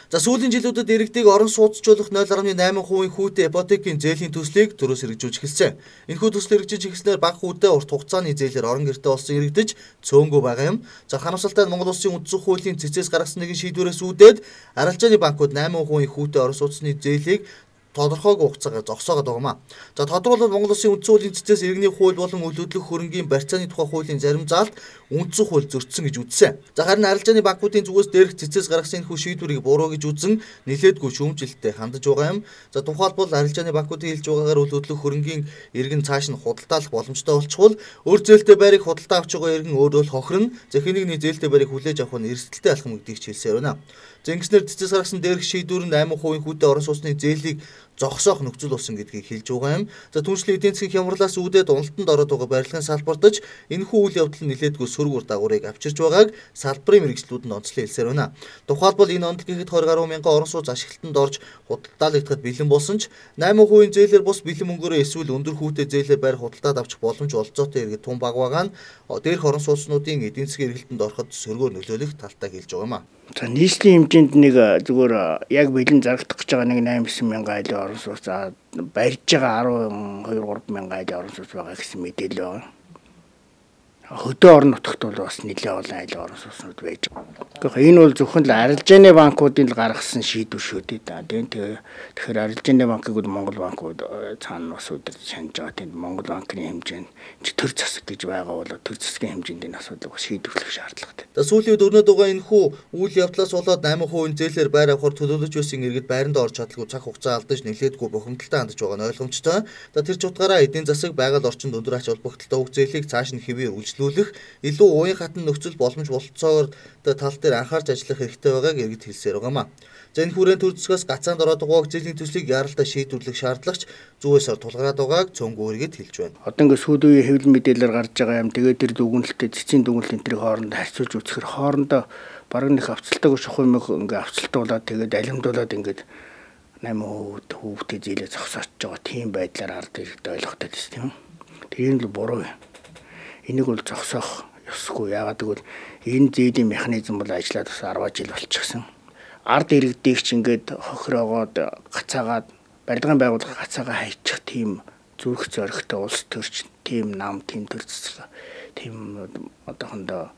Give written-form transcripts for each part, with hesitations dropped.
За сүүлийн жилүүдэд иргэдийг орон сууцчлуулах 0.8% хүүтэй ипотекийн зээлийн төслийг төрөөс хэрэгжүүлж эхэлсэн. Энэхүү төсөл хэрэгжиж эхэлснээр бага хүүтэй урт хугацааны зээлээр орон гэртээ олсон иргэдэж цөөнгөө байгаа юм. За харамсалтай нь Монгол Улсын үндсэн хуулийн цэцээс гаргасан нэгэн шийдвэрээс үүдээд арилжааны банкуд 8% хүүтэй орон сууцны зээлийг тодорхойгүй хугацаагаар зогсоогоод байгаамаа. За тодорхойлбол Монгол Улсын үндсэн хуулийн цэцээс иргэний хууль болон үйл хөдлөх хөрөнгийн барьцааны тухай хуулийн зарим заалт үндсэн хууль зөрчсөн гэж үзсэн. За харин арилжааны банкуудын зүгээс дээрх цэцээс гаргасан энэхүү шийдвэрийг буруу гэж үзэн нэлээдгүй шүүмжлэлтэй хандаж байгаа юм. За тухайлбал арилжааны банкуудын хэлж байгаагаар үйл хөдлөх хөрөнгийн иргэн цааш нь худалдаалах боломжтой болчихвол өөр зээлтэй байрыг худалдаа авч байгаа иргэн өөрөө л хохирно. За хэнийг нэг зээлтэй байрыг хүлээж авах нь эрсдэлтэй алхам гэдгийг хэлсээр байна. За ингэснээр цэцээс гаргасан дээрх шийдвэр нь 8% хүүтэй орон сууцны зээлийг зогсоох нөхцөл болсон гэдгийг хэлж байгаа юм. За түншлэн эдийн засгийн хямралаас үүдээд уналтанд ороод байгаа барилгын салбартаж энэхүү үйл явдал нь нэлээдгүй сөрөг үр дагаврыг авчирч байгааг салбарын мэргэжлүүд нь онцлон хэлсээр байна. Тухайлбал энэ онд гэхэд 20 гаруй мянган орон сууц ашиглалтанд орж худалдаалагдахад бэлэн болсон ч 8% зээлээр бус бэлэн мөнгөөрөө эсвэл өндөр хүүтэй зээлээр байр худалдаад авчих боломж олцоотой иргэд тун баг байгаа нь дээрх орон сууцнуудын эдийн засгийн эргэлтэнд ороход сөргөөр нөлөөлөх талтай хэлж байгаа юм. За нийслэлийн хэмжээнд нэг зүгээр яг бэлэн зарагдах гэж байгаа нэг 8-9 мянган айлын орон сууц барьж байгаа 12-3 мянган айлын орон сууц байгаа гэсэн мэдээлэл байна. Хөдөө орон нутагт бол бас нэлээд олон айлын орон сууцнууд байж байгаа. Энэ бол зөвхөн л арилжааны банкуудын л гаргасан шийдвэр шүү дээ. Тэгэхээр арилжааны банкыг бол Монгол банкуд цаана бас өдөр шанаж байгаа. Тэнд Монгол банкны хэмжээнд төр засаг гэж байгаа бол төр засгийн хэмжээнд энэ асуудлыг бас шийдвэрлэх шаардлагатай. За сүүлийн үед өрнөд байгаа энэхүү үйл явдлаас болоод 8% зээлээр байр авахар төлөвлөж байсан иргэд байранд орж чадлагүй цаг хугацаа алдаж нэлээдгүй бухимдалтай хандж байгаа нь ойлгомжтой. За тэр ч утгаараа эдийн засаг байгаль орчинд өндөр ач холбогдолтой үг зээлийг цааш нь хэвээр үргэлжлүүлэх илүү уян хатан нөхцөл боломж болцоогоор тал дээр анхаарч ажиллах хэрэгтэй байгааг иргэд хэлсээр байгаамаа. За энэ хүрээнд төр засгаас гацаанд ороод байгаа зээлийн төслийг яаралтай шийдвэрлэх шаардлагач зүүсээр тулгараад байгааг цөөнгөө иргэд хэлж байна. Одоо ингээд сүүлийн үеийн хэвлэл мэдээлэлээр гарч байгаа юм. Тэгээд тэр дүгнэлттэй цэцгийн дүгнэлт энтрийг хоорондоо харьцуулж үзэхээр хоорондоо бараг нэг авцалтайг шухуу юм ингээд авцалтуулаад тэгээд алимдуулаад ингээд 8% хүүтэй зээлээ зогсоож байгаа тийм байдлаар ард иргэд ойлгохтой тийм. Тэр нь л буруу юм. Энийг бол зогсоох ёсгүй. Яагаад гэвэл энэ зээлийн механизм бол ажиллаад бас 10 жил болчихсон. Ард иргэдийг ч ингээд хохироогоод гацаагаад барилгын байгууллага гацаагаа хайчих тийм зүрх зоригтой улс төрч тийм нам тийм төр засаг тийм одоохондоо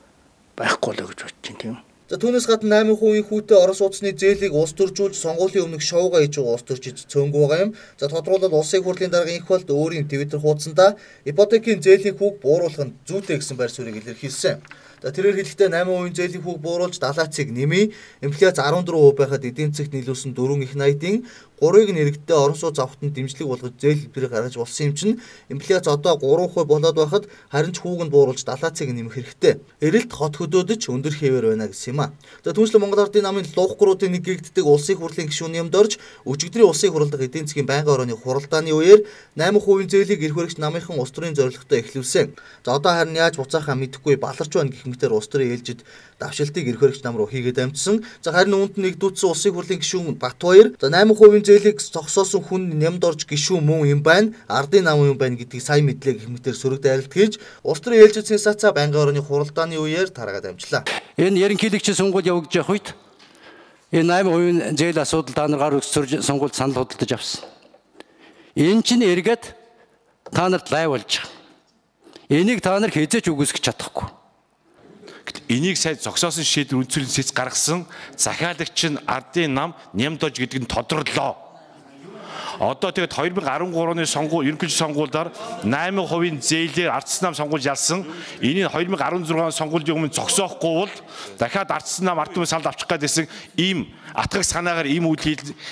байхгүй л гэж бодож байна тийм. За түүнээс гадна 8% хүүтэй орон сууцны зээлийг улс төржүүлж сонгуулийн өмнөх шоугаа хийж байгаа улс төрчид цөөнгөө байгаа юм. За тодорхойлбол улсын хурлын дарга инх болд өөрийн Twitter хуудсандаа ипотекийн зээлийн хүүг бууруулах нь зүйтэй гэсэн байр суурийг илэрхийлсэн. За тэрээр хэлэхдээ 8% зээлийн хүүг бууруулж далаацыг нэмий, инфляц 14% байхад эдийн засагт нийлүүлсэн 4 их 80-ийн 3-ыг нь иргэдтэй орон сууц авахтанд дэмжлэг болгож зээл хэлбэрийг гаргаж болсон юм чинь инфляц одоо 3% болоод байхад харин ч хүүг нь бууруулж далаацыг нэмэх хэрэгтэй. Эрэлт хот хөдөөдөж өндөр хэвээр байна гэсэн юм а. За түүнчлэн Монгол Ардын намын лууггуруудын нэг гэгддэг улсын хурлын гишүүний юмд орж өчигдрийн улсын хурал дахь эдийн засгийн байнгын орооны хуралдааны үеэр 8% зээлийг эрх баригч намынхан улс төрийн зорилготой эхлүүлсэн. За одоо харин яаж буцаахаа мэдэхгүй баларч байна гэх мэтээр улс төрийн ээлжид давшилтыг эрх баригч нам руу хийгээд амжсан. За харин үүнд нэгдүүлсэн улсын хурлын гишүүн Батбаяр за 8% зээлийг зогсоосон хүн нямд орж гишүүн мөн юм байна. Ардын нам юм байна гэдгийг сайн мэдлээ гэх мэтээр сөрөг дайралт хийж улс төрийн ээлжид сенсацаа байнгын орооны хуралдааны үеэр тараагаад амжлаа. Энэ ерөнхийлөгчийн сонгуульд явагдаж явах үед энэ 8% зээл асуудал та нар гар өгсөрж сонгуульд санал худалдаж авсан. Энэ чинь эргээд та нарт лай болж байгаа. Энийг та нар хязгаарч үгүйсгэж чадахгүй. Энийг сайн зогсоосон шийдвэр үндэслэлийн сэц гаргасан захиалагч нь ардын нам нямдож гэдэг нь тодорлоо. Одоо тэгээд 2013 оны ерөнхийлөгчийн сонгуульдаар 8% зээлээр ардсан нам сонгуульд ялсан. Энийг 2016 оны сонгуулийн өмнө зогсоохгүй бол дахиад ардсан нам ард түмэн санал авчих гэсэн ийм атгах санаагаар ийм үйл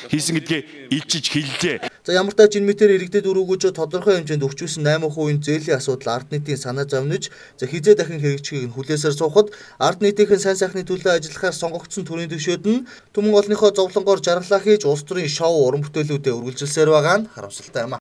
хийсэн гэдгээ илчиж хэллээ. За ямар тач энэ мэтэр иргэдэд өрөөгөөж тодорхой хэмжээнд өгчүүлсэн 8% зээлийн асуудал ард нийтийн санаа зовниж хизээ дахин хэрэгжихийг хүлээсээр суухад ард нийтийнхэн сайн сайхны төлөө ажиллахаар сонгогдсон төрийн төвшөөд нь түмэн олонныхоо зовлонгоор жаргалаа хийж улс төрийн шоу уран бүтээлүүдэд үргэлжилсээр байгаа нь харамсалтай юм.